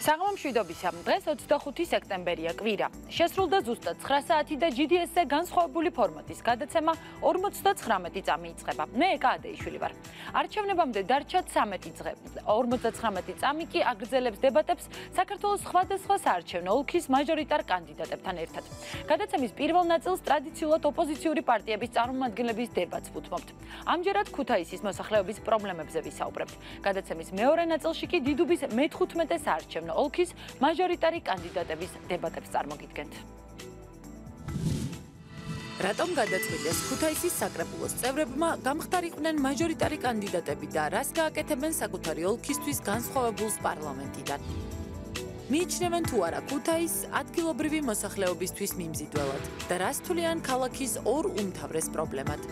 საღამო მშვიდობისა. დღეს 25 სექტემბერია, კვირა. შესრულდა ზუსტად 9 საათი და GDS-ზე განსხვავებული ფორმატის გადაცემა 59 წამი იწყება. მე ეკა ადეიშვილი ვარ. არჩევნებამდე დარჩა 13 დღე. 59 წამი კი აგრძელებს დებატებს საქართველოს სხვადასხვა საარჩევნო ოლქის მაჟორიტარ კანდიდატებთან ერთად. გადაცემის პირველ ნაწილს ტრადიციულად ოპოზიციური პარტიების წარმომადგენლების დებატს ვუთმობთ. ამჯერად ქუთაისის მოსახლეობის პრობლემებზე ვისაუბრებთ. გადაცემის მეორე ნაწილში კი დიდუბის მე-15 საარჩევნო ოლქის მაჟორიტარი კანდიდატების დებატებს წარმოგიდგენთ. რატომ გადაწყვიტეს ქუთაისის საკრებულოს წევრებმა გამხდარიყვნენ მაჟორიტარი კანდიდატები და რას გააკეთებენ საკუთარი ოლქისთვის განსხვავებულს პარლამენტიდან? მიიჩნევენ თუ არა ქუთაისს ადგილობრივი მოსახლეობისთვის მიმზიდველად და რას თვლიან ქალაქის ორ უმთავრეს პრობლემად?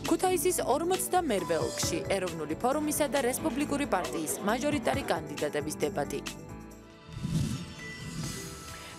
ქუთაისის 42-მერვე ოლქში ეროვნული ფორუმისა და რესპუბლიკური პარტიის მაჟორიტარი კანდიდატების დებატი.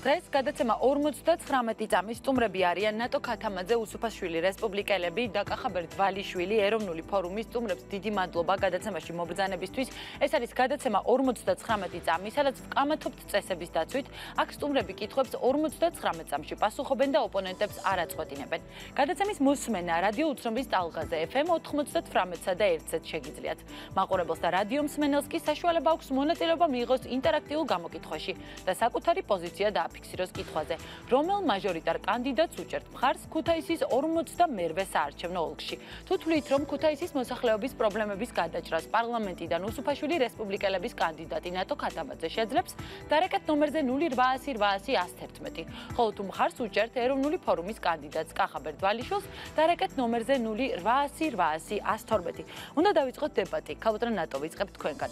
დღეს გადაცემა 59 წამის სტუმრები არიან ნატო ქათამაძე, უსუფაშვილი, რესპუბლიკელები და კახაბერ დვალიშვილი, ეროვნული ფორუმის სტუმრებს დიდი მადლობა გადაცემაში მობრძანებისთვის. ეს არის გადაცემა 59 წამი, სადაც ვკამათობთ წესების დაცვით. აქ სტუმრები კითხვებს 59 წამში პასუხობენ და ოპონენტებს არ აწყვეტინებენ. გადაცემის მოსმენა რადიო უცნობის ტალღაზე FM 98-სა და 1-ზე შეგიძლიათ. მაყურებელს და რადიო მსმენელს კი საშუალება აქვს მონაწილეობა მიიღოს ინტერაქტიულ გამოკითხვაში და საკუთარი პოზიცია ფიქსიროს კითხვაზე, რომელ მაჟორიტარ კანდიდატს უჭერთ მხარს ქუთაისის 42-მერვე საარჩევნო ოლქში. თუ თვლით, რომ ქუთაისის მოსახლეობის პრობლემების გადაჭრას პარლამენტიდან უსუფაშვილი რესპუბლიკელების კანდიდატი ნატო ქათამაძე შეძლებს, დარეკეთ ნომერზე 0800-800-111. ხოლო თუ მხარს უჭერთ ეროვნული ფორუმის კანდიდატს კახაბერ დვალიშვილს, დარეკეთ ნომერზე 0800-800-112. უნდა დავიწყოთ დებატი. ქალბატონ ნატო, ვიწყებთ თქვენგან.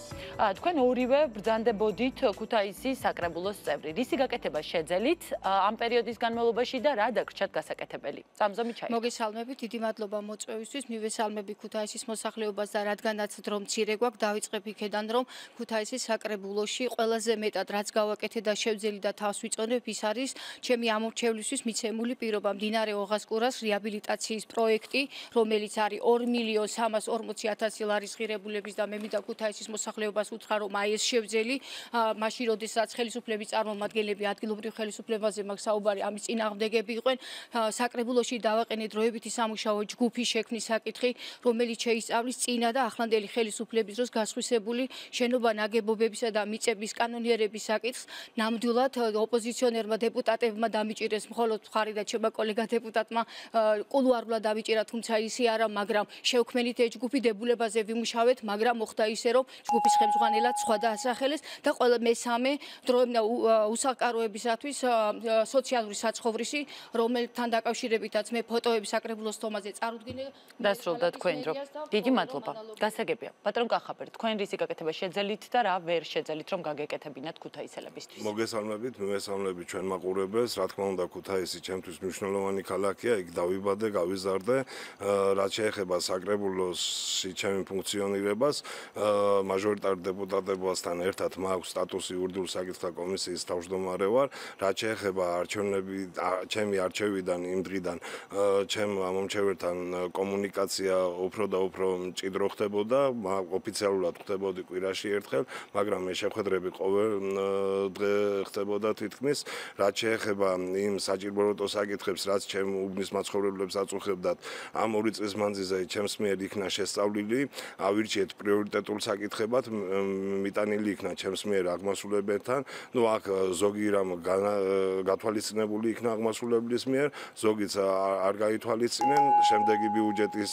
თქვენ ორივე ბრძანდებოდით ქუთაისის საკრებულოს წევრი. რისი გაკეთება შეძელით ამ პერიოდის განმავლობაში და რა დაგრჩათ გასაკეთებელი? წამზომი ჩაი. მოგესალმებით, დიდი მადლობა მოწვევისთვის. მივესალმები ქუთაისის მოსახლეობას და რადგანაც დრო მცირე გვაქვს, დავიწყებ იქედან, რომ ქუთაისის საკრებულოში ყველაზე მეტად რაც გავაკეთე და შევძელი და თავს ვიწონებ, ის არის ჩემი ამორჩევლისთვის მიცემული პირობა მდინარე ოღასკურას რეაბილიტაციის პროექტი, რომელიც არის 2.340.000 ლარის ღირებულების და მე მინდა ქუთაისის მოსახლეობას უთხრა, რომ აი ეს შევძელი, მაშინ როდესაც ხელისუფლების წარმომადგენლები ადგილობრივ ხელისუფლებაზე მაქვს საუბარი, ამის წინააღმდეგები იყვენ. საკრებულოში დავაყენე დროებითი სამუშაო ჯგუფის შექმნის საკითხი, რომელიც შეისწავლის წინა და ახლანდელი ხელისუფლების დროს გასხვისებული შენობა ნაგებობებისა და მიწების კანონიერების საკითხს. ნამდვილად ოპოზიციონერმა დეპუტატებმა დამიჭირეს მხოლოდ მხარი და ჩემმა კოლეგა დეპუტატმა კულუარულად დამიჭირა, თუმცა ისი არა, მაგრამ შევქმნით ეს ჯგუფი, დებულებაზე ვიმუშავეთ, მაგრამ მოხდა ისე, რომ ჯგუფის ხელმძღვანელად სხვა დაასახელეს და ყველა მესამე დროებნა უსაკაროებისათვის სოციალური საცხოვრისი, რომელთან დაკავშირებითაც მე ფოტოები საკრებულოს თომაზე წარუდგინე. დასრულდა თქვენ დრო. დიდი მადლობა. გასაგებია. ბატონ კახაბერ, თქვენ რისი გაკეთება შეძელით და რა ვერ შეძელით, რომ გაგეკეთებინათ ქუთაისელებისთვის? მოგესალმებით, მივესალმებით ჩვენ მაყურებელს. რა თქმა უნდა, ქუთაისი ჩემთვის მნიშვნელოვანი ქალაქია, იქ დავიბადე, გავიზარდე. რაც შეეხება საკრებულოსში ჩემი ფუნქციონირებას, მაჟორიტარ დეპუტატებასთან ერთად მაქვს სტატუსი ურდულ საკითხთა კომისიის თავმჯდომარე ვარ. რაც შეეხება ჩემი არჩევიდან იმ დღიდან ჩემ მომჩევერთან კომუნიკაცია უფრო და უფრო მჭიდრო ხდებოდა, ოფიციალურად ხდებოდი კვირაში ერთხელ, მაგრამ ეს შეხვედრები ყოველ დღე ხდებოდა თითქმის. რაც შეეხება იმ საჭიროებო საკითხებს, რაც ჩემ უბნის მაცხოვრებლებს აწუხებდათ, ამ 2 წლის მანძილზე ჩემს მიერ იქნა შესწავლილი, ავირჩიეთ პრიორიტეტულ საკითხებად, მიტანილი იქნა ჩემს მიერ აღმასრულებელთან. ნუ აქ ზოგი რამ გათვალისწინებული იქნა აღმასრულებლის მიერ, ზოგიც არ გაითვალისწინեն, შემდეგი ბიუჯეტის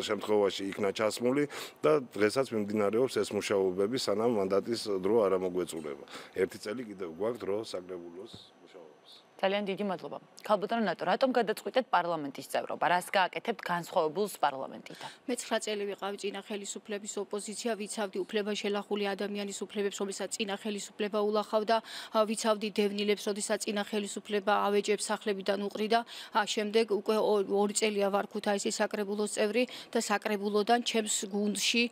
შემთხვევაში იქნა ჩასმული და დღესაც მიმდინარეობს ეს მუშაობები, სანამ მანდატის დრო არ ამოგვეწურება. 1 წელი კიდევ გვაქვს დრო საკრებულოს მუშაობას. ძალიან დიდი მადლობა. ქალბატონ ნატო, რატომ გადაწყვიტეთ პარლამენტის წევრობა? რას გააკეთებთ განსხვავებულს პარლამენტიდან? მე 9 წელი ვიყავი წინა ხელისუფლების ოპოზიცია, ვიცავდი უფლება შელახული ადამიანის უფლებებს, რომელსაც წინა ხელისუფლება ულახავდა, ვიცავდი დევნილებს, როდესაც წინა ხელისუფლება ავეჯებს სახლებიდან უყრიდა. შემდეგ უკვე 2 წელია ვარ ქუთაისის საკრებულოს წევრი და საკრებულოდან ჩემს გუნდში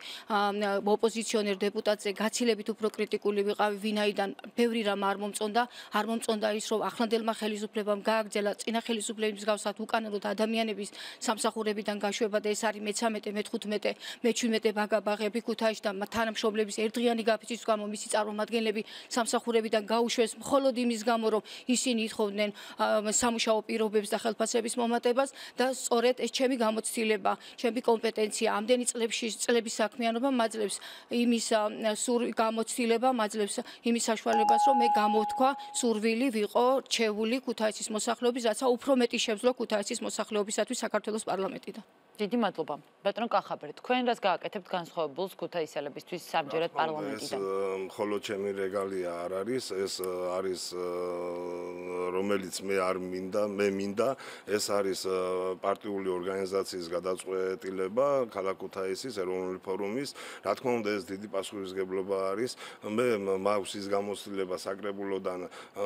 ოპოზიციონერ დეპუტატზე გაცილებით უფრო კრიტიკული ვიყავი, ვინაიდან ბევრი რამ არ მომწონდა ის, რომ ახლანდელმა ხელისუფლებამ გააგრძელა წინა ხელისუფლების მსგავსად უკანონოდ ადამიანების სამსახურებიდან გაშვება და ეს არის მე-13, მე-15, მე-17 ბაგაბაღები ქუთაისში და თანამშრომლების ერთდღიანი გაფიცვის გამო მისი წარმომადგენლები სამსახურებიდან გაუშვეს მხოლოდ იმის გამო, რომ ისინი ითხოვდნენ სამუშაო პირობებს და ხელფასების მომატებას და სწორედ ეს ჩემი გამოცდილება, ჩემი კომპეტენცია, ამდენი წლების საქმიანობა მაძლევს იმის გამოცდილება, მაძლევს იმის საშუალებას, რომ მე გამოვთქვა სურვილი ვიყო რჩეული ქუთაისის მოსახლეობის, რაცა უფრო მეტი შევძლო ქუთაისის მოსახლეობისათვის საქართველოს პარლამენტიდან. დიდი მადლობა. ბატონო კახაბერი, თქვენ რას გააკეთებთ განსხვავებულს ქუთაისელებისთვის სამჯერად პარლამენტიდან? მხოლოდ ჩემი რეგალია არ არის, ეს არის რომელიც მე მინდა, ეს არის პარტიული ორგანიზაციის გადაწყვეტილება ქალაქ ქუთაისის ეროვნული ფორუმის. რა თქმა უნდა, ეს დიდი პასუხისმგებლობა არის. მე მაქვს ის გამოცდილება საკრებულოდან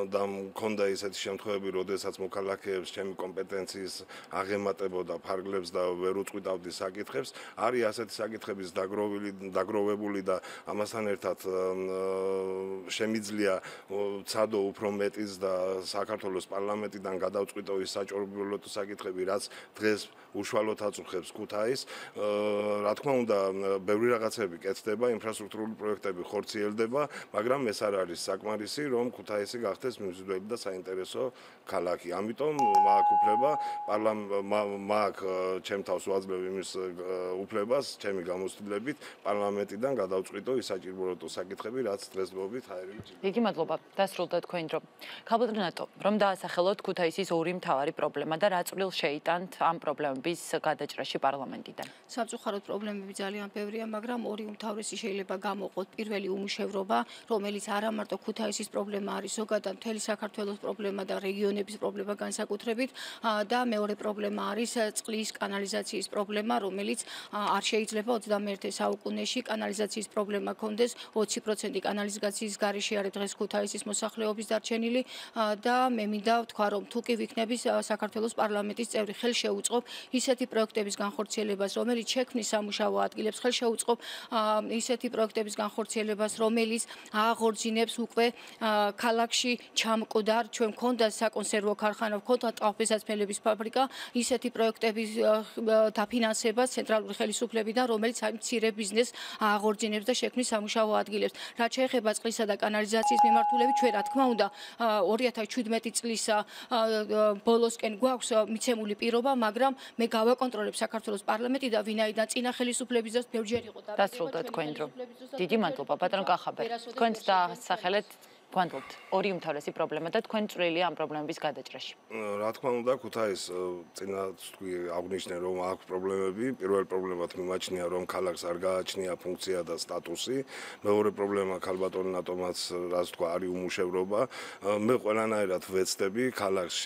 და მქონდა ისეთი შემთხვევები, როდესაც მოქალაქეებს ჩემი კომპეტენციის აღემატებოდა ფარგლებს და ვერ უწყვიტავდი საკითხებს. არის ასეთი საკითხების დაგროვებული და ამასთან ერთად შემიძლია ცადო უფრო მეტის და საქართველოს პარლამენტიდან გადავწყვიტო ის საჭიროებულო საკითხები, რაც დღეს უშუალოდ აწუხებს ქუთაისს. რა თქმა უნდა, ბევრი რაღაცები კეთდება, ინფრასტრუქტურული პროექტები ხორციელდება, მაგრამ ეს არ არის საკმარისი, რომ ქუთაისი გახდეს მიმზიდველი და საინტერესო ქალაქი. ამიტომ მაქვს უფლება, მაქვს ჩემ თავს ვაძლევ იმის უფლებას, ჩემი გამოცდილებით პარლამენტიდან გადავწყვიტო ის საჭიროებულო საკითხები, რაც დღესდღეობით ჰაერები ჭირდება. დიდი მადლობა. დასრულდა თქვენი დრო. ქალბატონო, რომ დაასახელოთ ქუთაისის ორი მთავარი პრობლემა და რა წვლილს შეიტანთ ამ პრობლემების გადაჭრაში პარლამენტიდან? სამწუხაროდ პრობლემები ძალიან ბევრია, მაგრამ ორი უმთავრესი შეიძლება გამოყოთ. პირველი უმუშევრობა, რომელიც არა მარტო ქუთაისის პრობლემა არის, ზოგადად მთელი საქართველოს პრობლემა და რეგიონების პრობლემა განსაკუთრებით და მეორე პრობლემა არის წყლის კანალიზაციის პრობლემა, რომელიც არ შეიძლება 21 საუკუნეში კანალიზაციის პრობლემა კონდეს. 20% კანალიზაციის გარეშე არის დღეს ქუთაისის მოსახლეობის დარჩენილი და მე მინდა ვთქვა, რომ თუ კი ვიქნები საქართველოს პარლამენტის წევრი, ხელ შეუწყობ ისეთი პროექტების განხორციელებას, რომელიც შექმნის სამუშაო ადგილებს, ხელ შეუწყობ ისეთი პროექტების განხორციელებას, რომელიც აღორძინებს უკვე ქალაქში ჩამკვდარ, ჩვენ მქონდა საკონსერვო ქარხანა, მქონდა ტყავ-ფესაცმელების ფაბრიკა, ისეთი პროექტების დაფინანსებას ცენტრალური ხელისუფლებიდან, რომელიც აი მცირე ბიზნესს აღორძინებს და შექმნის სამუშაო ადგილებს. რაც შეეხება წყლისა და კანალიზაციის მიმართულებით, ჩვენ რა თქმა უნდა 2017 წლის ბოლოსკენ გვაქვს მიცემული პირობა, მაგრამ მე გავაკონტროლებ საქართველოს პარლამენტი და ვინაიდან წინა ხელისუფლების დროს ბევრჯერ იყო დასრულდა თქვენი დრო. დიდი მადლობა ბატონო კახაბერი. თქვენც დაასახელეთ გვანდობთ ორი უმთავრესი პრობლემა და თქვენ წვლილი ამ პრობლემების გადაჭრაში. რა თქმა უნდა, ქუთაისს წინათ თქვი აღნიშნე, რომ აქვს პრობლემები. პირველ პრობლემად მიმაჩნია, რომ ქალაქს არ გააჩნია ფუნქცია და სტატუსი. მეორე პრობლემა ქალბატონ ნატომაც რაც თქვა, არის უმუშევრობა. მე ყველანაირად ვეცდები ქალაქს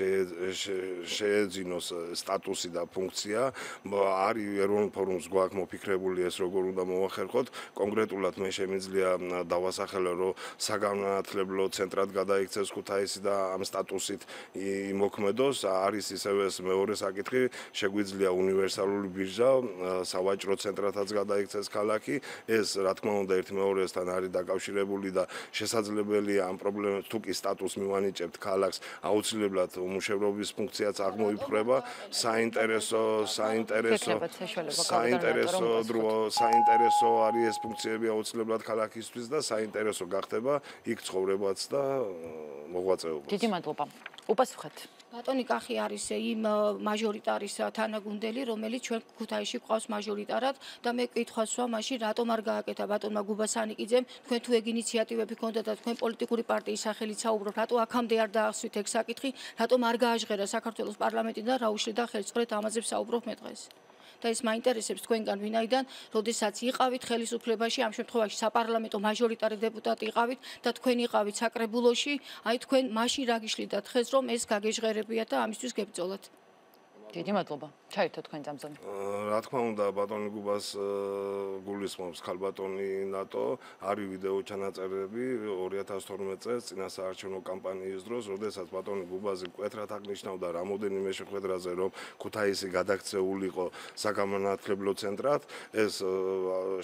შეეძინოს სტატუსი და ფუნქცია. არის ეროვნულ ფორუმს გვაქვს მოფიქრებული ეს როგორ უნდა მოახერხოთ. კონკრეტულად მე შემიძლია დავასახელო, რომ საგანმანათლებლო ცენტრად გადაიქცეს ქუთაისი და ამ სტატუსით იმოქმედოს. არის ისევ ეს მეორე საკითხი, შეგვიძლია უნივერსალური ბირჟა, სავაჭრო ცენტრათაც გადაიქცეს ქალაქი. ეს რა თქმა უნდა ერთმეორესთან არის დაკავშირებული და შესაძლებელია ამ პრობლემებს თუ კი სტატუსს მივანიჭებთ ქალაქს, აუცილებლად უმუშევრობის ფუნქციაც აღმოიფხვრება. საინტერესო არის ეს ფუნქციები აუცილებლად ქალაქისთვის და საინტერესო გახდება იქ ცხოვრება და მოღვაწეობა. დიდი მადლობა. უპასუხეთ. ბატონი კახი არის იმ მაჟორიტარის თანაგუნდელი, რომელიც ჩვენ ქუთაისში გვყავს მაჟორიტარად და მე კითხვას ვსვა მაშინ რატომ არ გააკეთა ბატონმა გუბასანიკიძემ, თქვენ თუ ეგ ინიციატივები ქონდათ და თქვენ პოლიტიკური პარტიის სახელით საუბრობთ, რატო აქამდე არ დაახსვით ეგ საკითხი, რატომ არ გააჟღერა საქართველოს პარლამენტიდან რა უშლიდა ხელს, სწორედ ამაზე ვსაუბრობ მე დღეს. და ეს მაინტერესებს თქვენგან ვინაიდან, როდესაც იყავით ხელისუფლებაში, ამ შემთხვევაში საპარლამენტო მაჟორიტარი დეპუტატი იყავით და თქვენ იყავით საკრებულოში, აი თქვენ მაშინ რა გიშლიდათ ხეს, რომ ეს გაგეჟღერებიათ და ამისთვის გებრძოლათ. დიდი მადლობა. ჩაერთო თქვენ წამზონი. რა თქმა უნდა, ბატონი გუბას გულისხმობს ქალბატონი ნატო, არის ვიდეო ჩანაწერები 2012 წელს წინა საარჩევნო კამპანიის დროს, როდესაც ბატონი გუბაზი მკვეთრად აღნიშნავდა რამოდენიმე შეხვედრაზე, რომ ქუთაისი გადაქცეულიყო საგანმანათლებლო ცენტრად, ეს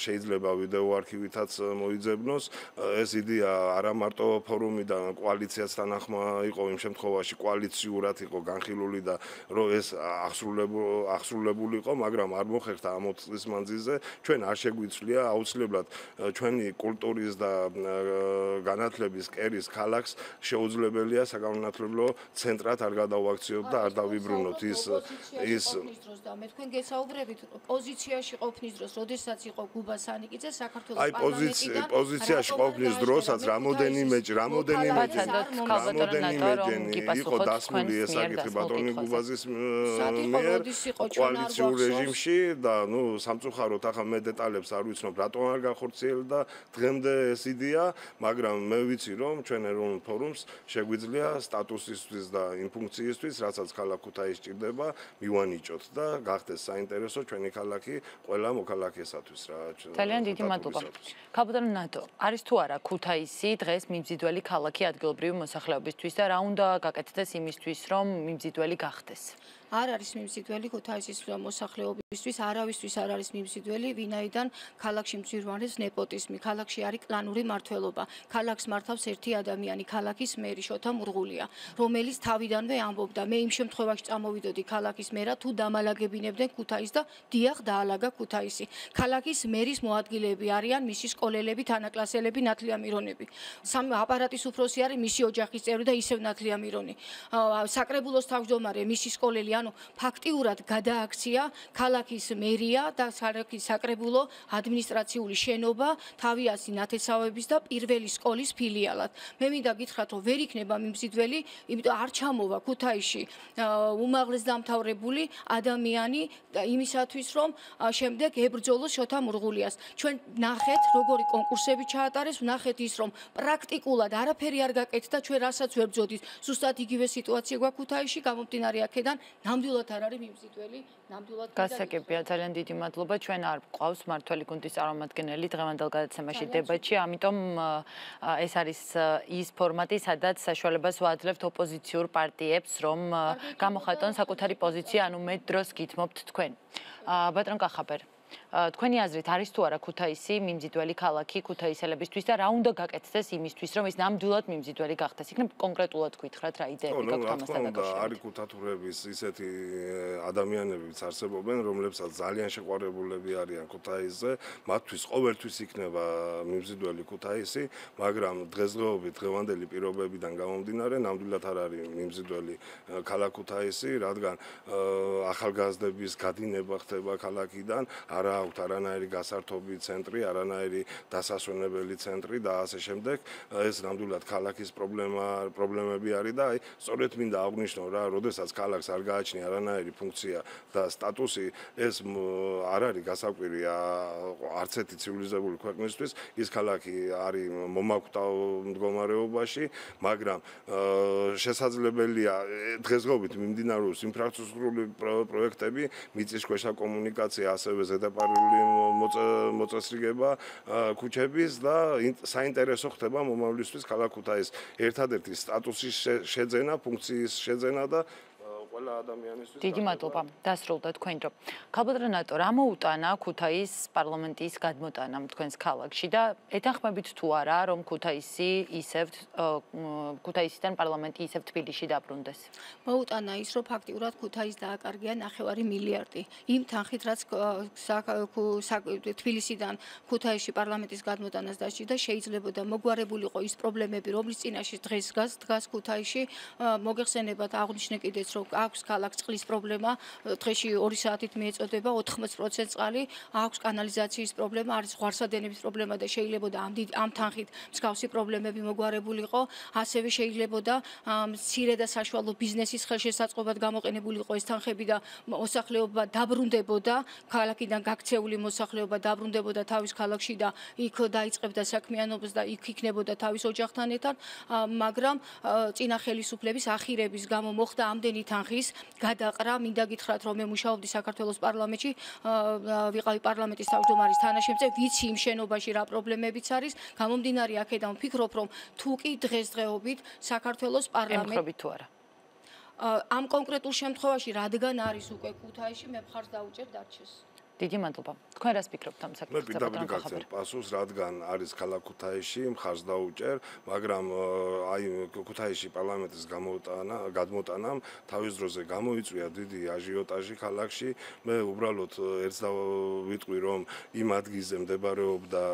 შეიძლება ვიდეო არქივითაც მოიძებნოს. ეს იდეა არა მარტო ფორუმიდან, კოალიციასთან ახმა იყო იმ შემთხვევაში კოალიციურად იყო განხილული და რომ ეს აღსრულებულიყო, მაგრამ არ მოხერხდა ამ 20 წლის მანძილზე. ჩვენ არ შეგვიცვლია აუცილებლად ჩვენი კულტურის და განათლების კერის ქალაქს შეუძლებელია საგანმანათლებლო ცენტრად არ გადავაქციოთ და არ დავიბრუნოთ ის მე თქვენ გესაუბრებით პოზიციაში ყოფნის დროს, როდესაც იყო გუბა სანიკიძე საქართველოს აი პოზიციაში ყოფნის დროსაც რამოდენიმე იყო დასმული ეს საკითხი ბატონი გუბაზის მიერ კოალიციურ რეჟიმში და სამწუხაროდ ახლა მე დეტალებს არ ვიცნობ რატომ არ განხორციელდა დღემდე ეს იდეა, მაგრამ მე ვიცი რომ ჩვენ ეროვნულ ფორუმს შეგვიძლია სტატუსისთვის და იმ ფუნქციისთვის, რასაც ქალაქ ქუთაისს სჭირდება, მივანიჭოთ და გახდეს საინტერესო ჩვენი ქალაქი ყველა მოქალაქესათვის რა. ძალიან დიდი მადლობა. ქალბატონო ნატო, არის თუ არა ქუთაისი დღეს მიმზიდველი ქალაქი ადგილობრივი მოსახლეობისთვის და რა უნდა გაკეთდეს იმისთვის, რომ მიმზიდველი გახდეს? არ არის მიმზიდველი ქუთაისის მოსახლეობისთვის, არავისთვის არ არის მიმზიდველი, ვინაიდან ქალაქში მძვირვანებს ნეპოტიზმი, ქალაქში არის კლანური მმართველობა. ქალაქს მართავს ერთი ადამიანი, ქალაქის მერი შოთა მურღულია, რომელიც თავიდანვე ამბობდა, მე იმ შემთხვევაში წამოვიდოდი ქალაქის მერად, თუ დამალაგებინებდნენ ქუთაისს და დიახ დაალაგა ქუთაისი. ქალაქის მერის მოადგილეები არიან მისი სკოლელები, თანაკლასელები, ნათლია მირონები. აპარატის უფროსი არის მისი ოჯახის წევრი და ისევ ნათლია მირონი. საკრებულოს თავმჯდომარე მისი სკოლელი ფაქტიურად გადააქცია ქალაქის მერია და ქალაქის საკრებულო ადმინისტრაციული შენობა თავიასი ნათესავების და პირველი სკოლის ფილიალად. მე მინდა გითხრათ, რომ ვერ იქნება მიმზიდველი, იმიტომ არ ჩამოვა ქუთაისში უმაღლეს დამთავრებული ადამიანი იმისათვის, რომ შემდეგ ებრძოლოს შოთა მურღულიას. ჩვენ ნახეთ, როგორი კონკურსები ჩაატარეს, ნახეთ ის, რომ პრაქტიკულად არაფერი არ გაკეთდა, ჩვენ რასაც ვერ ბრძოდით. ზუსტად იგივე სიტუაცია გვაქვს ქუთაისში, გამომდინარე აქედან ნამდვილად არ არის მიმზიდველი, ნამდვილად გასაგებია, ძალიან დიდი მადლობა. ჩვენ არ გვყავს მმართველი გუნდის წარმომადგენელი დღევანდელ გადაცემაში დებატში, ამიტომ ეს არის ის ფორმატი, სადაც საშუალებას ვაძლევთ ოპოზიციურ პარტიებს, რომ გამოხატონ საკუთარი პოზიცია, ანუ მეტ დროს გითმობთ თქვენ. ბატონ კახაბერ, თქვენი აზრით არის თუ არა ქუთაისი მიმზიდველი ქალაქი ქუთაისელებისთვის და რა უნდა გაკეთდეს იმისთვის, რომ ის ნამდვილად მიმზიდველი გახდეს? იქნებ კონკრეტულად გითხრათ რა იდეები გაქვთ ამასთან დაკავშირებით? არის ქუთათურების ისეთი ადამიანებიც არსებობენ, რომლებსაც ძალიან შეყვარებულები არიან ქუთაისზე, მათთვის ყოველთვის იქნება მიმზიდველი ქუთაისი, მაგრამ დღესდღეობით დღევანდელი პირობებიდან გამომდინარე, ნამდვილად არ არის მიმზიდველი ქალაქ ქუთაისი, რადგან ახალგაზრდების გადინება ხდება ქალაქიდან, არა აქვთ არანაირი გასართობი ცენტრი, არანაირი დასასვენებელი ცენტრი და ასე შემდეგ. ეს ნამდვილად ქალაქის პრობლემები არის და სწორედ მინდა აღვნიშნო რა, როდესაც ქალაქს არ გააჩნია არანაირი ფუნქცია და სტატუსი, ეს არ არის გასაკვირი არც ერთი ცივილიზებული ქვეყნისთვის. ის ქალაქი არის მომაკვდავ მდგომარეობაში, მაგრამ შესაძლებელია დღესდღეობით მიმდინარეობს ინფრასტრუქტურული პროექტები, მიწისქვეშა კომუნიკაცია, ასევე ზედაპირული მოწესრიგება ქუჩების და საინტერესო ხდება მომავლისთვის ქალაქ ქუთაისს ერთადერთი სტატუსის შეძენა, ფუნქციის შეძენა და ყველა ადამიანისთვის. დიდი მადლობა. დასრულდა თქვენ დრო. ქალბატონო ნატო, რა მოუტანა ქუთაისის პარლამენტის გადმოტანა თქვენს ქალაქში და ეთანხმებით თუ არა, რომ ქუთაისიდან პარლამენტი ისევ თბილისში დაბრუნდეს? მოუტანა ის, რომ ფაქტიურად ქუთაისს დააკარგია 9 მილიარდი. იმ თანხით, რაც თბილისიდან ქუთაისში პარლამენტის გადმოტანას დასჭირდა, შეიძლებოდა მოგვარებულიყო ის პრობლემები, რომლის წინაშე დღეს დგას ქუთაისში. მოგეხსენებათ, აღვნიშნე კიდეც, რომ აქვს ქალაქს წყლის პრობლემა, დღეში 2 საათით მიეწოდება 80% წყალი, აქვს კანალიზაციის პრობლემა, არის ზღვარსადენების პრობლემა და შეიძლებოდა ამ თანხით მსგავსი პრობლემები მოგვარებულიყო, ასევე შეიძლებოდა მცირე და საშუალო ბიზნესის ხელშესაწყობად გამოყენებულიყო ეს თანხები და მოსახლეობა დაბრუნდებოდა, ქალაქიდან გაქცეული მოსახლეობა დაბრუნდებოდა თავის ქალაქში და იქ დაიწყებდა საქმიანობას და იქ იქნებოდა თავის ოჯახთან ერთად, მაგრამ წინა ხელისუფლების ახირების გამო მოხდა ამდენი თანხის არის გადაყრა. მინდა გითხრათ, რომ მე მუშაობდი საქართველოს პარლამენტში, ვიყავი პარლამენტის თავმჯდომარის თანაშემწე, ვიცი იმ შენობაში რა პრობლემებიც არის. გამომდინარე აქედან ვფიქრობ, რომ თუ კი დღესდღეობით საქართველოს პარლამენტი ემხრობით თუ არა? ამ კონკრეტულ შემთხვევაში, რადგან არის უკვე ქუთაისში, მე მხარს დაუჭერ დარჩეს. დიდი მადლობა. თქვენ რას ფიქრობთ ამ მე საკითხზე? პირდაპირ გაგცემ პასუხს, რადგან არის ქალაქ ქუთაისში, მხარს დაუჭერ, მაგრამ აი ქუთაისში პარლამენტის გადმოტანამ თავის დროზე გამოიწვია დიდი აჟიოტაჟი ქალაქში. მე უბრალოდ ერთს დავიტყვი, რომ იმ ადგილზე მდებარეობდა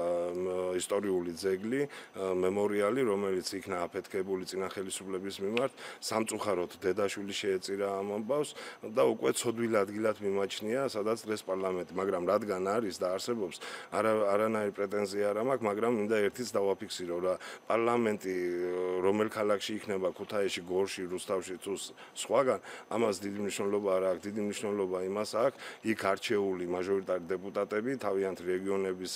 ისტორიული ძეგლი, მემორიალი, რომელიც იქნა აფეთქებული წინა ხელისუფლების მიმართ, სამწუხაროდ დედაშვილი შეეწირა ამ ამბავს და უკვე ცოდვილ ადგილად მიმაჩნია, სადაც დღეს პარლამენტი, მაგრამ რადგან არის და არსებობს, არანაირი პრეტენზია არ მაქვს, მაგრამ მინდა ერთიც დავაფიქსირო, რა პარლამენტი რომელ ქალაქში იქნება, ქუთაისში, გორში, რუსთავში თუ სხვაგან, ამას დიდი მნიშვნელობა არ აქვს, დიდი მნიშვნელობა იმას აქვს, იქ არჩეული მაჟორიტარი დეპუტატები თავიანთ რეგიონების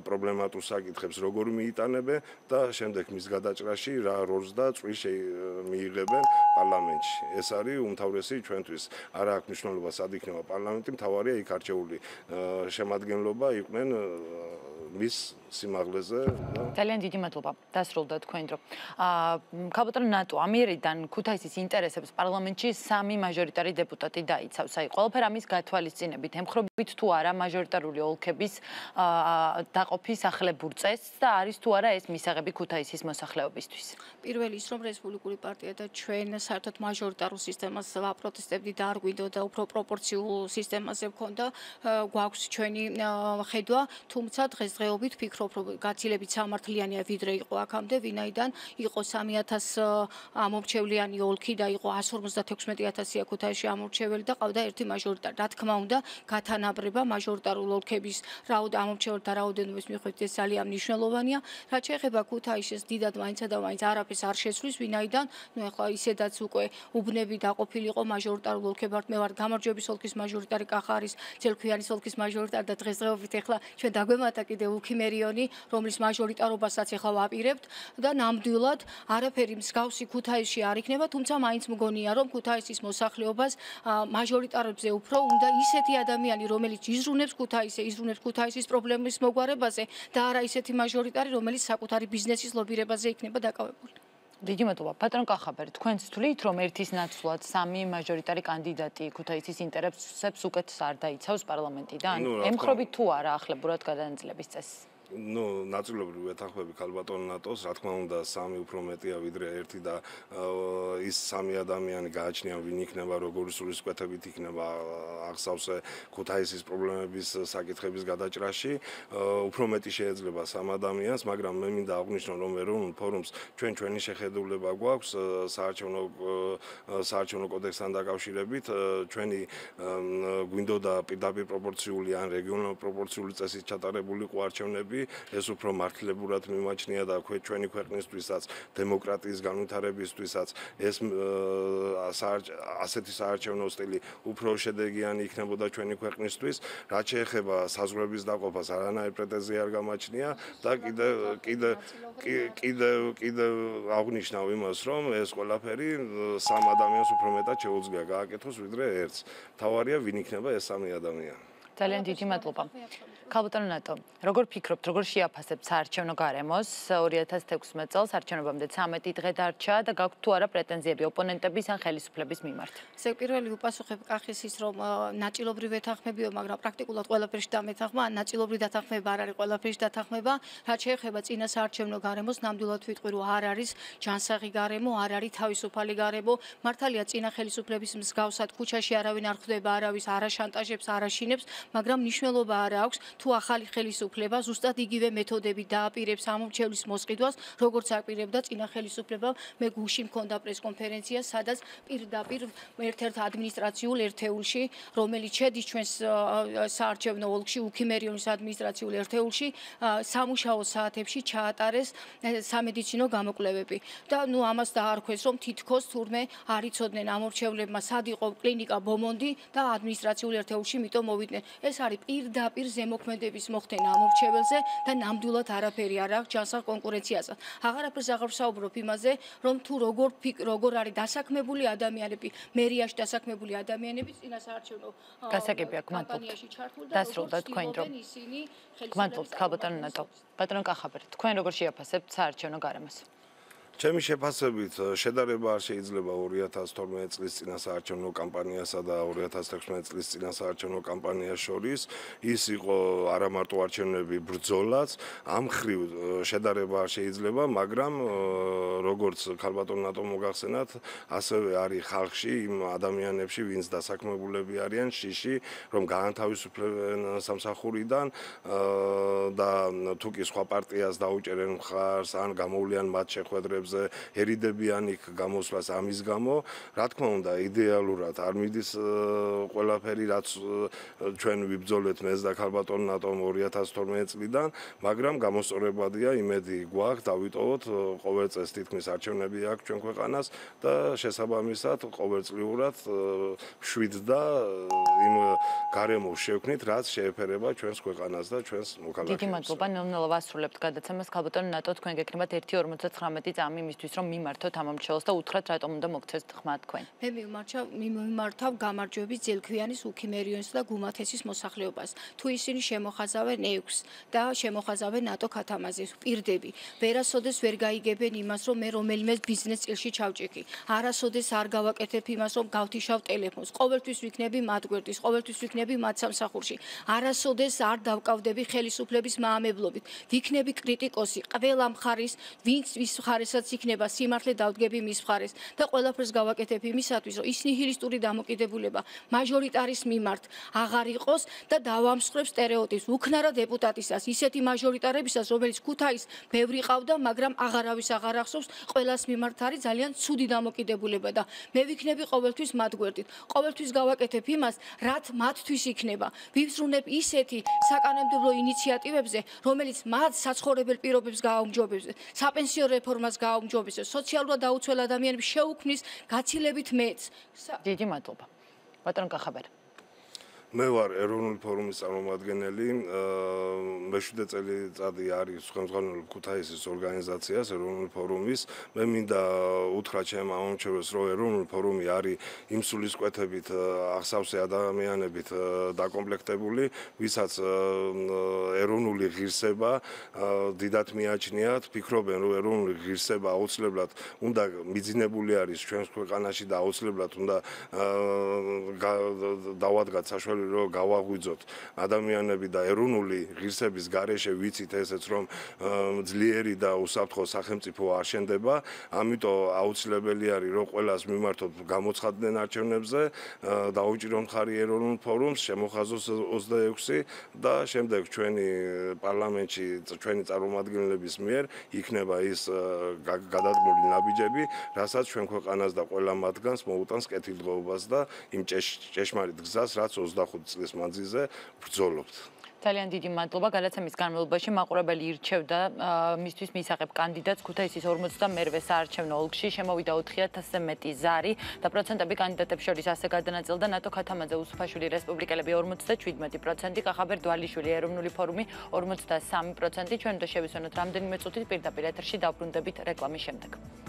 პრობლემატურ საკითხებს როგორ მიიტანებენ და შემდეგ მის გადაჭრაში რა როლს და წვლილს მიიღებენ პარლამენტში. ეს არის უმთავრესი ჩვენთვის. არ აქვს მნიშვნელობა სად იქნება პარლამენტი, მთავარია იქ არჩეული შემადგენლობა იყვნენ მის სიმაღლეზე და ძალიან დიდი მადლობა. დასრულდა თქვენ დრო. ქალბატონო ნატო ამიერიდან ქუთაისის ინტერესებს პარლამენტში 3 მაჟორიტარი დეპუტატი დაიცავს. აი, ყველაფერი ამის გათვალისწინებით ემხრობით თუ არა მაჟორიტარული ოლქების დაყოფის ახლებურ წესს და არის თუ არა ეს მისაღები ქუთაისის მოსახლეობისთვის. პირველი ის, რომ რესპუბლიკური პარტია და ჩვენ საერთოდ მაჟორიტარულ სისტემას ვაპროტესტებდით და არ გვინდოდა უფრო პროპორციულ სისტემაზე ვქონდა, გვაქვს ჩვენი ხედვა, თუმცა დღესდღეობით ვფიქრობ, რომ გაცილებით სამართლიანია ვიდრე იყო აქამდე, ვინაიდან იყო 3000 ამორჩევლიანი ოლქი და იყო 156.000 ქუთაისში ამორჩეველი და ყავდა ერთი მაჟორიტარი. რა თქმა უნდა, გათანაბრება მაჟორიტარულ ოლქების ამორჩეველთა რაოდენობის მიხედვით ეს ძალიან მნიშვნელოვანია. რაც შეეხება ქუთაისის დიდად მაინც და მაინც არაფერს არ შეცვლის, ვინაიდან ნუ ახლა ისედაც უკვე უბნები დაყოფილი იყო მაჟორიტარულ ოლქებად. მე ვარ გამარჯვების ოლქის მაჟორიტარი, კახარის, ძელქვიანის ოლქის მაჟორიტარი და დღესდღეობით ახლა ჩვენ დაგვემატა კიდევ უქიმერიონი, რომლის მაჟორიტარობასაც ახლა ვაპირებთ და ნამდვილად არაფერი მსგავსი ქუთაისში არ იქნება, თუმცა მაინც მგონია, რომ ქუთაისის მოსახლეობას მაჟორიტარებზე უფრო უნდა ისეთი ადამიანი, რომელიც იზრუნებს ქუთაისის პრობლემის მოგვარებაზე და არა ისეთი მაჟორიტარი, რომელიც საკუთარი ბიზნესის ლობირებაზე იქნება დაკავებული. დიდი მადლობა. ბატონო კახაბერი, თქვენც თვლით, რომ ერთის ნაცვლად 3 მაჟორიტარი კანდიდატი ქუთაისის ინტერესებს უკეთ არ დაიცავს პარლამენტიდან? ემხრობით თუ არა ახლებურად გადანაწილების წესს? ნაწილობრივ ვეთანხმები ქალბატონ ნატოს, რა თქმა უნდა, 3 უფრო მეტია ვიდრე 1 და ის 3 ადამიანი გააჩნია ვინ იქნება, როგორი სულისკვეთებით იქნება აღსავსე ქუთაისის პრობლემების საკითხების გადაჭრაში. უფრო მეტი შეიძლება 3 ადამიანს, მაგრამ მე მინდა აღვნიშნო, რომ ეროვნულ ფორუმს ჩვენი შეხედულება გვაქვს საარჩევნო კოდექსთან დაკავშირებით, ჩვენი გვინდოდა პირდაპირ პროპორციული ან რეგიონალურ პროპორციული წესით ჩატარებულიყო არჩევნები. ეს უფრო მართლებურად მიმაჩნია და ჩვენი ქვეყნისთვისაც, დემოკრატიის განვითარებისთვისაც ეს ასეთი საარჩევნო სტილი უფრო შედეგიანი იქნებოდა ჩვენი ქვეყნისთვის. რაც შეეხება საზღვრების დაყოფას, არანაირი პრეტენზია არ გამაჩნია და კიდევ აღნიშნავ იმას, რომ ეს ყველაფერი 3 ადამიანს უფრო მეტად შეუძლია გააკეთოს ვიდრე ერთს. მთავარია ვინ იქნება ეს 3 ადამიანი. ძალიან დიდი მადლობა. ქალბატონო ნატო, როგორ ფიქრობთ, როგორ შეაფასებთ საარჩევნო გარემოს 2016 წელს არჩევნებამდე 13 დღე დარჩა და გაქვთ თუ არა პრეტენზიები ოპონენტების ან ხელისუფლების მიმართ? ესე პირველი ვუპასუხებ კახის ის, რომ ნაწილობრივ ეთანხმებიო, მაგრამ პრაქტიკულად ყველაფერში დამეთანხმა, ან ნაწილობრივ დათანხმება არ არის ყველაფერში დათანხმება. რაც შეეხება წინა საარჩევნო გარემოს, ნამდვილად ვიტყვი, რომ არ არის ჯანსაღი გარემო, არ არის თავისუფალი გარემო. მართალია წინა ხელისუფლების მსგავსად ქუჩაში არავინ არ ხვდება, არავის არ აშანტაჟებს, არ აშინებს, მაგრამ მნიშვნელობა არ აქვს თუ ახალი ხელისუფლება ზუსტად იგივე მეთოდებით დააპირებს ამორჩევლის მოსყიდვას, როგორც აპირებდა წინა ხელისუფლება. მე გუშინ მქონდა პრესკონფერენცია, სადაც პირდაპირ ერთ-ერთ ადმინისტრაციულ ერთეულში, რომელიც შედის ჩვენს საარჩევნო ოლქში, უქიმერიონის ადმინისტრაციულ ერთეულში, სამუშაო საათებში ჩაატარეს სამედიცინო გამოკვლევები. და ნუ ამას დაარქვეს, რომ თითქოს თურმე არ იცოდნენ ამორჩევლებმა სად იყო კლინიკა ბომონდი და ადმინისტრაციულ ერთეულში მიტომ მოვიდნენ. ეს არის პირდაპირ ზემოქმედი მოქმედების მოხდენა ამორჩეველზე და ნამდვილად არაფერი არ აქვს ჯანსაღ კონკურენციაზე. აღარაფერს აღარ ვსაუბრობ იმაზე, რომ თუ როგორ არის დასაქმებული ადამიანები, მერიაში დასაქმებული ადამიანები წინასაარჩევნო კამპანიაში ჩართული და დასრულდა თქვენ დრო. გმადლობთ ქალბატონო ნატო. ბატონო კახაბერ, თქვენ როგორ შეაფასებთ საარჩევნო გარემოს? ჩემი შეფასებით შედარება არ შეიძლება 2012 წლის წინასაარჩევნო კამპანიასა და 2016 წლის წინასაარჩევნო კამპანიას შორის. ის იყო არა მარტო არჩევნები ბრძოლაც, ამ ხრივ შედარება არ შეიძლება, მაგრამ როგორც ქალბატონო ნატომ მოგახსენათ, ასევე არის ხალხში იმ ადამიანებში, ვინც დასაქმებულები არიან შიში, რომ გაანთავისუფლებენ სამსახურიდან და თუ კი სხვა პარტიას დაუჭერენ მხარს ან გამოვლიან მათ შეხვედრებს ერიდებიან იქ გამოსვლას ამის გამო, რა თქმა უნდა, იდეალურად არ მიდის ყველაფერი, რაც ჩვენ ვიბრძოლეთ მეც და ქალბატონო ნატომ 2012 წლიდან, მაგრამ გამოსწორებადია, იმედი გვაქვს, დავიტოვოთ ყოველ წელს თითქმის არჩევნები აქვს ჩვენ ქვეყანას და შესაბამისად ყოველწლიურად შვიდ და იმ გარემოს შევქმნით, რაც შეეფერება ჩვენს ქვეყანას და ჩვენს მოქალაქეებს. დიდი მადლობა, ნელ-ნელა ვასრულებთ გადაცემას. ქალბატონო ნატო, თქვენ გეკნებათ 1.59 წამი იმისთვის, რომ მიმართოთ ამ ამორჩეველს და უთხრათ, რატომ უნდა მოგცეს ხმა თქვენ. მე მიმართავ გამარჯვების ძელქვიანის უქიმერიონის და გუმათესის მოსახლეობას. თუ ისინი შემოხაზავენ ექვს და შემოხაზავენ ნატო ქათამაზის პირდები, ვერასოდეს ვერ გაიგებენ იმას, რომ მე რომელიმე ბიზნეს წილში ჩავჭიქი. არასოდეს არ გავაკეთებ იმას, რომ გავთიშავ ტელეფონს. ყოველთვის ვიქნები მათ გვერდის, ყოველთვის ვიქნები მათ სამსახურში. არასოდეს არ დავკავდები ხელისუფლების მაამებლობით. ვიქნები კრიტიკოსი ყველა მხარის, ვინც ვის მხარესაც იქნება სიმართლე დავდგები მის მხარეს და ყველაფერს გავაკეთებ იმისათვის, რომ ის ნიჰილისტური დამოკიდებულება მაჟორიტარის მიმართ აღარ იყოს და დავამსხვრებ სტერეოტიპს უქნარა დეპუტატისას, ისეთი მაჟორიტარებისას, რომელიც ქუთაისს ბევრი ყავდა, მაგრამ აღარავის აღარ ახსოვს, ყველას მიმართ არის ძალიან ცუდი დამოკიდებულება და მე ვიქნები ყოველთვის მათ გვერდით. ყოველთვის გავაკეთებ იმას, რაც მათთვის იქნება. ვივსრულებ ისეთი საკანონმდებლო ინიციატივებზე, რომელიც მათ საცხოვრებელ პირობებს გააუმჯობესებს, საპენსიო რეფორმას გააუმჯობესებს, სოციალურად დაუცველ ადამიანებს შეუქმნის გაცილებით მეც. დიდი მადლობა. ბატონო კახაბერ. მე ვარ ეროვნული ფორუმის წარმომადგენელი, მე-7 წელიწადი არის ხელმძღვანელი ქუთაისის ორგანიზაციას ეროვნული ფორუმის. მე მინდა უთხრა ჩემ ამორჩეველს, რომ ეროვნული ფორუმი არის იმ სულისკვეთებით აღსავსე ადამიანებით დაკომპლექტებული, ვისაც ეროვნული ღირსება დიდად მიაჩნიათ, ფიქრობენ, რომ ეროვნული ღირსება აუცილებლად უნდა მიძინებული არის ჩვენს ქვეყანაში და აუცილებლად უნდა დავადგათ საშუალება რომ გავაღვიძოთ ადამიანები და ეროვნული ღირსების გარეშე ვიცით ესეც რომ ძლიერი და უსაფრთხო სახელმწიფო არ შენდება, ამიტომ აუცილებელი არის რომ ყველას მიმართოთ გამოცხადდნენ არჩევნებზე, დაუჭირონ მხარი ეროვნულ ფორუმს, შემოხაზოს 26 და შემდეგ ჩვენი პარლამენტში ჩვენი წარმომადგენლების მიერ იქნება ის გადადგმული ნაბიჯები, რასაც ჩვენ ქვეყანას და ყველა მათგანს მოუტანს კეთილდღეობას და იმ ჭეშმარიტ გზას, რაც 25 წლის მანძილზე ბრძოლობთ. ძალიან დიდი მადლობა. გადაცემის განმავლობაში მაყურებელი ირჩევდა მისთვის მისაღებ კანდიდატს ქუთაისის 42-ე საარჩევნო ოლქში. შემოვიდა 4000-ზე მეტი ზარი და პროცენტები კანდიდატებს შორის ასე გადანაწილდა ნატო ქათამაძე უსუფაშვილი რესპუბლიკელები 57%, კახაბერ დვალიშვილი ეროვნული ფორუმი 53%. ჩვენ უნდა შევისვენოთ რამდენიმე წუთით პირდაპირ ეთერში დავბრუნდებით რეკლამის შემდეგ.